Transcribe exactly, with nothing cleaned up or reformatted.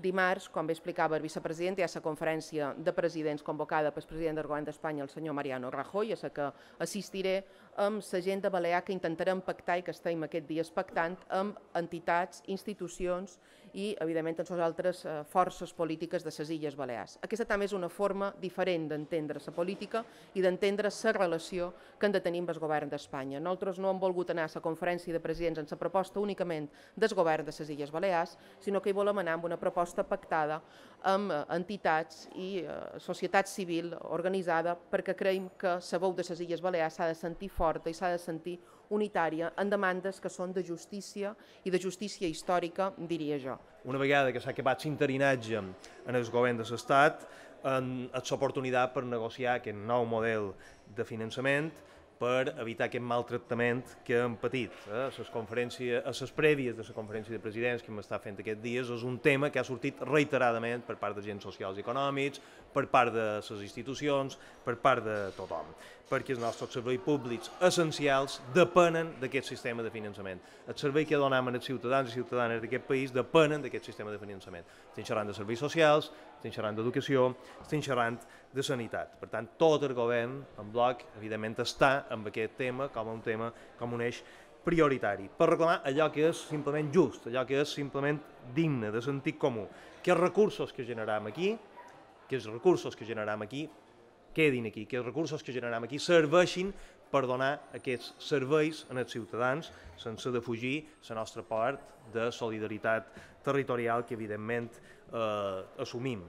Dimarts, com bé explicava el vicepresident, hi ha la conferència de presidents convocada pel president del Govern d'Espanya, el senyor Mariano Rajoy, a la que assistiré amb l'agenda balear que intentarem pactar i que estem aquests dies pactant amb entitats, institucions i, evidentment, amb les altres forces polítiques de les Illes Balears. Aquesta també és una forma diferent d'entendre la política i d'entendre la relació que han de tenir amb el Govern d'Espanya. Nosaltres no hem volgut anar a la conferència de presidents amb la proposta únicament del Govern de les Illes Balears, sinó que hi volem anar amb una proposta pactada amb entitats i eh, societat civil organitzada perquè creiem que la veu de les Illes Balears s'ha de sentir forta i s'ha de sentir unitària en demandes que són de justícia i de justícia històrica, diria jo. Una vegada que s'ha acabat l'interinatge en el govern de l'Estat, és l'oportunitat per negociar aquest nou model de finançament per evitar aquest maltractament que hem patit. A les conferències, a les prèvies de la conferència de presidents que hem estat fent aquests dies és un tema que ha sortit reiteradament per part d'agents socials i econòmics, per part de les institucions, per part de tothom, perquè els nostres serveis públics essencials depenen d'aquest sistema de finançament. El servei que donem als ciutadans i ciutadanes d'aquest país depenen d'aquest sistema de finançament. Estem xerrant de serveis socials, estem xerrant d'educació, estem xerrant de sanitat. Per tant, tot el govern en bloc, evidentment, està amb aquest tema com un tema, com un eix prioritari, per reclamar allò que és simplement just, allò que és simplement digne, de sentit comú, que els recursos que generam aquí, que els recursos que generam aquí quedin aquí, que els recursos que generam aquí serveixin per donar aquests serveis als ciutadans sense defugir la nostra part de solidaritat territorial que evidentment eh, assumim.